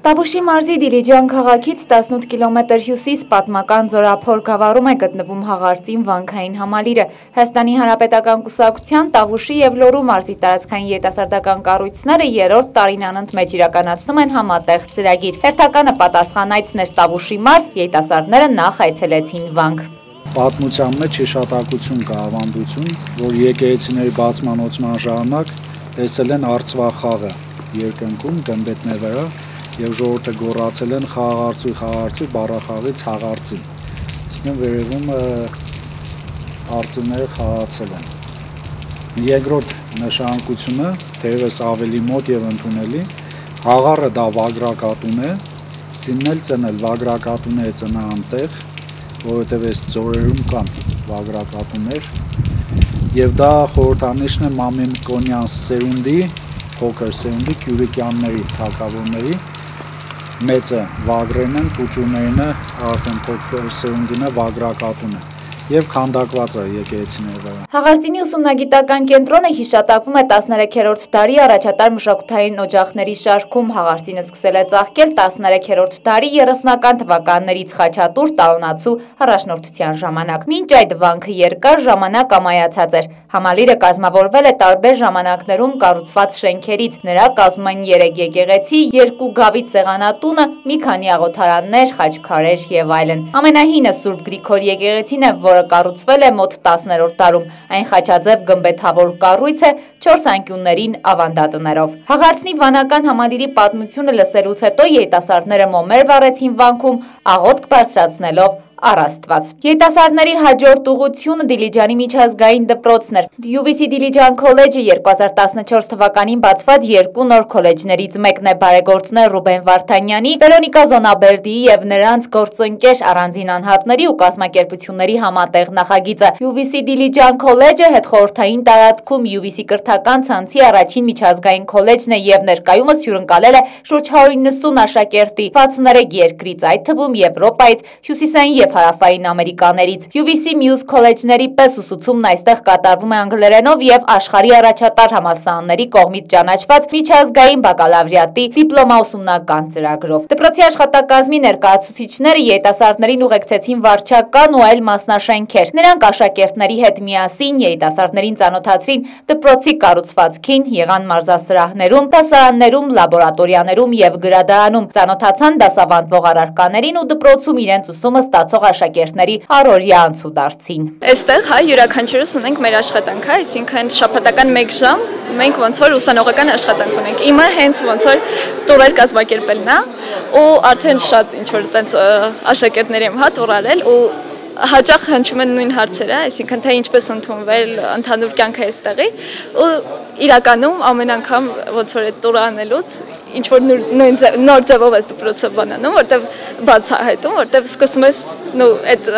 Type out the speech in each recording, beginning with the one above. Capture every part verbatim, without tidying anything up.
Տավուշի մարզի Դիլիջան քաղաքից տասնութ կիլոմետր հյուսիս պատմական Ձորափոր գավառում է գտնվում հաղարծին վանքային համալիրը։ Հայաստանի Հանրապետական կուսակցության Տավուշի և Լոռու մարզի տարածքային երիտասարդական կառույցները երրորդ տարին անընդմեջ իրականացնում են համատեղ ծրագիր։ Հերթականը պատասխանայցներ Տավուշի մարզ, երիտասարդները նախ այցելեցին վանք։ Պատմության մեջ հիշատակություն կա, ավանդություն, որ եկեղեցիների բացման օծման ժամանակ տեսել են արծվախաղը երկնքում գմբեթների վրա և ժողովուրդը գոռացել են խաղաղարծույ, խաղաղարծույ, բառախաղից հաղարծին։ Իսկն վերևում արծիվները խաղացել են։ Երկրորդ նշանակությունը, թերևս ավելի մոտ և ընդունելի, հաղառը դա վագրակատուն է, ծիննել ծնել, վագրակատուն է ծնա անտեղ, որովհետև այս ձորերում կան վագրակատուներ, և դա խորհրդանիշն է Մամիկոնյան սերունդի, փոքր սերունդի, Կյուրիկյանների թագավորների, մեծը վագրերն են, փուչուրներինը արդեն փոքր սերունդինը վագրակատուն է և քանդակված է եկեղեցիների վրա։ Հաղարծինի ուսումնագիտական կենտրոնը հիշատակվում է տասներեքերորդ դարի առաջատար մշակութային օջախների շարքում։ Հաղարծինը սկսել է ծաղկել տասներեքերորդ դարի երեսունական թվականներից Խաչատուր Տաունացու առաջնորդության ժամանակ։ Մինչ այդ վանքը երկար ժամանակ ամայացած էր։ Համալիրը կազմավորվել է տարբեր ժամանակներում կառուցված շենքերից։ Նրա կազմում են երեք եկեղեցի, երկու գավիթ սեղանատունը, մի քանի աղոթարաններ, խաչքարեր և այլն։ Ամենահինը Սուրբ Գրիգոր եկեղեցին է, որը կառուցվել է մոտ տասներորդ դարում։ Այն խաչաձև գմբեթավոր կառույց է չորս անկյուններին ավանդատներով։ Հաղարծնի վանական համալիրի պատմությունը լսելուց հետո երիտասարդները մոմեր վառեցին վանքում, աղոթք բարձրացնելով առ Աստված։ Երիտասարդների հաջորդ ուղղությունը Դիլիջանի միջազգային դպրոցն էր։ յու վի սի Դիլիջան քոլեջը երկու հազար տասնչորս թվականին բացված երկու նոր քոլեջներից մեկն է։ Բարեգործներ Ռուբեն Վարդանյանի, Վերոնիկա Զոնաբերդիի և նրանց գործընկեր առանձին անհատների ու կազմակերպությունների համատեղ նախագիծը։ յու վի սի Դիլիջան քոլեջը հետխորհրդային տարածքում յու վի սի կրթական ցանցի առաջին միջազգային քոլեջն է և ներկայումս հյուրընկալել է շուրջ հարյուր իննսուն աշակերտի վաթսուններեք երկրից, այդ թվում Եվրոպայից, Հյուսիսային և Հարավային Ամերիկաներից։ յու վի սի մյուս քոլեջների պես ուսուցումն այստեղ կատարվում է անգլերենով և աշխարհի առաջատար համալսարանների կողմից ճանաչված միջազգային բակալավրիատի դիպլոմաուսումնական ծրագրով։ Դպրոցի աշխատակազմի ներկայացուցիչները երիտասարդներին ուղեկցեցին վարչական ու այլ մասնաշենքեր։ Նրանք աշակերտների հետ միասին երիտասարդներին ծանոթացրին դպրոցի կառուցվածքին, եղան մարզասրահներում, դասարաններում, լաբորատորիաներում և գրադարանում, ծանոթացան դասավանդվող առարկաներին ու դպրոցում իրենց ուսումը ստացող աշակերտների առօրյա անցուդարձին։ Այստեղ հայ յուրաքանչյուրս ունենք մեր աշխատանքը, այսինքն շաբաթական մեկ ժամ մենք ոնց որ ուսանողական աշխատանք ունենք։ Իմը հենց ոնց որ տուրեր կազմակերպելն է ու արդեն շատ ինչ որ տենց աշակերտների եմ հա տուր արել ու հաճախ հնչում են նույն հարցերը, այսինքն թե ինչպես ընդունվել ընդհանուր կյանքը այստեղի ու իրականում ամեն անգամ ոնց որ այդ տուրը անելուց ինչ որ նույն նոր ձևով ես դպրոցը բանանում, որտեվ բացահայտում, որտեվ սկսում ես նո այդ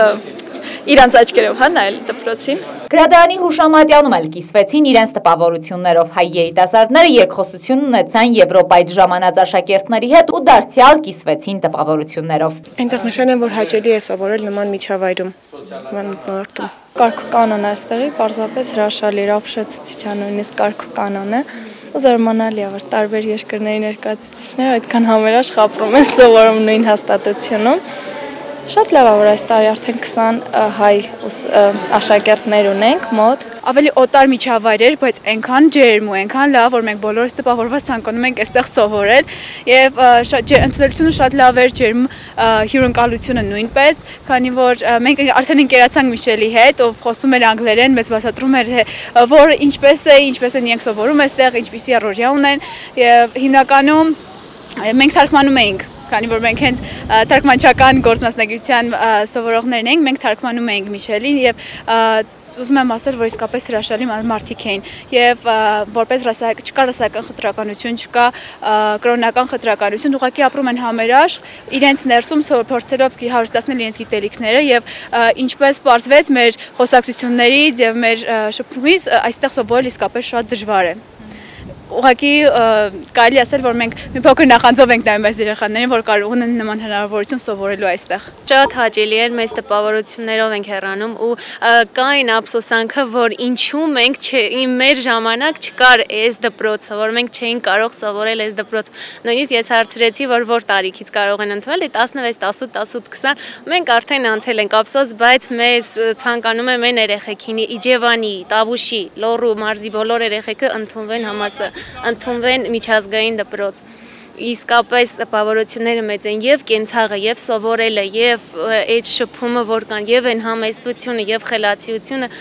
իրանց աչքերով հա նայել դպրոցին։ Գրադարանի հուշամատյանում էլ կիսվեցին իրենց տպավորություններով։ Հայ երիտասարդները երկխոսություն ունեցան Եվրոպայից ժամանած աշակերտների հետ ու դարձյալ կիսվեցին տպավորություններով։ Այնտեղ նշան են, որ հաճելի է սովորել նման միջավայրում, նման մտնոլորտում։ Կարգ ու կանոն է այստեղի, պարզապես հրաշալի ապշեցուցիչ է նույնիսկ կարգ ու կանոնը։ Ու զարմանալի է, որ տարբեր երկրների ներկայացուցիչները այդքան համերաշխ ապրում են, սովորում նույն հաստատությունում։ Շատ լավ է, որ այս տարի արդեն քսան հայ աշակերտներ ունենք մոտ։ Ավելի օտար միջավայր էր, բայց այնքան ջերմ ու այնքան լավ, որ մենք բոլորս տպավորված ցանկանում ենք այստեղ սովորել եւ ընդունելությունը շատ լավ էր, ջերմ հյուրընկալությունը նույնպես, քանի որ մենք արդեն ընկերացանք Միշելի հետ, ով խոսում էր անգլերեն, մեզ բացատրում էր, որ ինչպես է, ինչպես են իրենք սովորում այստեղ, ինչպիսի առօրյա ունեն եւ հիմնականում մենք թարգմանում էինք։ Քանի որ մենք հենց թարգմանչական գործմասնագիտության սովորողներն ենք, մենք թարգմանում էինք Միշելին եւ ուզում եմ ասել, որ իսկապես հրաշալի մարդիկ էին եւ որպես չկա ռասայական խտրականություն, չկա կրոնական խտրականություն, ուղղակի ապրում են համերաշխ, իրենց ներսում փորձելով հարստացնել իրենց գիտելիքները եւ ինչպես պարզվեց մեր խոսակցություններից եւ մեր շփումից այստեղ սովորել իսկապես շատ դժվար է։ ուղղակի կարելի ասել, որ մենք մի փոքր նախանձով ենք նայում այս երեխաներին, որ կարող ունեն նման հնարավորություն սովորելու այստեղ։ Շատ հաճելի էր, մեծ տպավորություններով ենք հեռանում ու կա այն ափսոսանքը, որ ինչու մենք մեր ժամանակ չկար այս դպրոցը, որ մենք չէինք կարող սովորել այս դպրոցը։ Նույնիսկ ես հարցրեցի, որ որ տարիքից կարող են ընդունել, տասնվեց, տասութ, տասութ, քսան, մենք արդեն անցել ենք ափսոս, բայց մեզ ցանկանում եմ այն երեխեքին Իջևանի, Տավուշի, Լոռու մարզի բոլոր երեխեքը ընդունվեն համասը, ընդունվեն միջազգային դպրոց։ Իսկապես տպավորությունները մեծ են եւ կենցաղը, եւ սովորելը, եւ այդ շփումը, որ կան, եւ այն համեստությունը, եւ խելացիությունը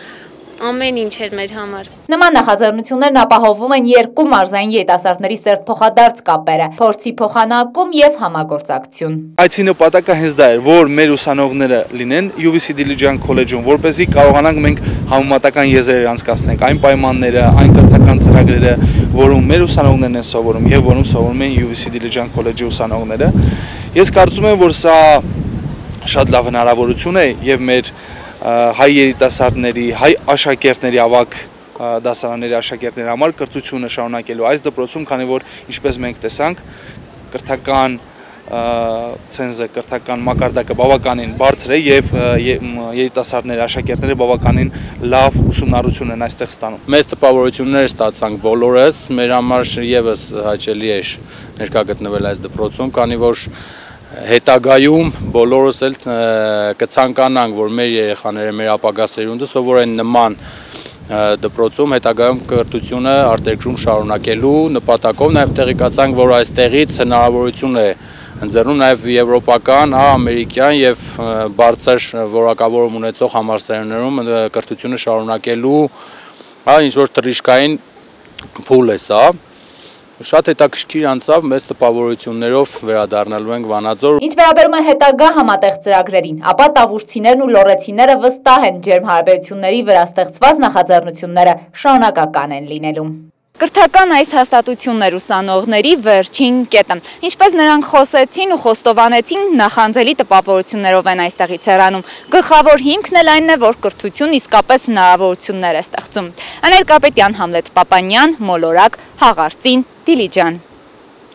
ամեն ինչ էր մեր համար։ Նման նախաձեռնություններն ապահովում են երկու մարզային երիտասարդների սերտ փոխադարձ կապերը, փորձի փոխանակում եւ համագործակցություն։ Այցի նպատակը հենց դա էր, որ մեր ուսանողները լինեն յու վի սի Դիլիջան քոլեջում, որպեսզի կարողանանք մենք համեմատական եզրեր անցկացնենք այն պայմանները, այն կրթական ծրագրերը, որում մեր ուսանողներն են սովորում եւ որում սովորում են յու վի սի Դիլիջան քոլեջի ուսանողները։ Ես կարծում եմ, որ սա շատ լավ հնարավորություն է եւ մեր հայ երիտասարդների, հայ աշակերտների ավագ դասարանների աշակերտների համար կրթությունը շարունակելու այս դպրոցում, քանի որ ինչպես մենք տեսանք, կրթական ցենզը, կրթական մակարդակը բավականին բարձր է եւ երիտասարդների աշակերտները բավականին լավ ուսումնառություն են այստեղ ստանում։ Մեծ տպավորություններ ստացանք բոլորս, մեր համար եւս հաճելի էր ներկա գտնվել այս դպրոցում, քանի որ հետագայում բոլորս էլ կցանկանանք, որ մեր երեխաները, մեր ապագա սերունդը սովորեն նման դպրոցում, հետագայում կրթությունը արտերկրում շարունակելու նպատակով, նաև տեղեկացանք, որ այստեղից հնարավորություն է ընձեռնում նաև եվրոպական, ամերիկյան եւ բարձր որակավորում ունեցող համալսարաններում կրթությունը շարունակելու ինչ որ թռիչքային փուլ է սա։ Շատ հետաքրքիր անցավ, մեծ տպավորություններով վերադառնալու ենք Վանաձոր։ Ինչ վերաբերում է հետագա համատեղ ծրագրերին, ապա տավուշցիներն ու լոռեցիները վստահ են ջերմ հարաբերությունների վրա ստեղծված նախաձեռնությունները շարունակական են լինելու։ Կրթական այս հաստատություններ ուսանողների վերջին կետը։ Ինչպես նրանք խոսեցին ու խոստովանեցին, նախանձելի տպավորություններով են այստեղից հեռանում։ Գլխավոր հիմքն էլ այնն է, որ կրթություն իսկապես հնարավորություններ է ստեղծում։ Անել Կարպետյան, Համլետ Պապանյան, Մոլորակ, Հաղարծին, Դիլիջան։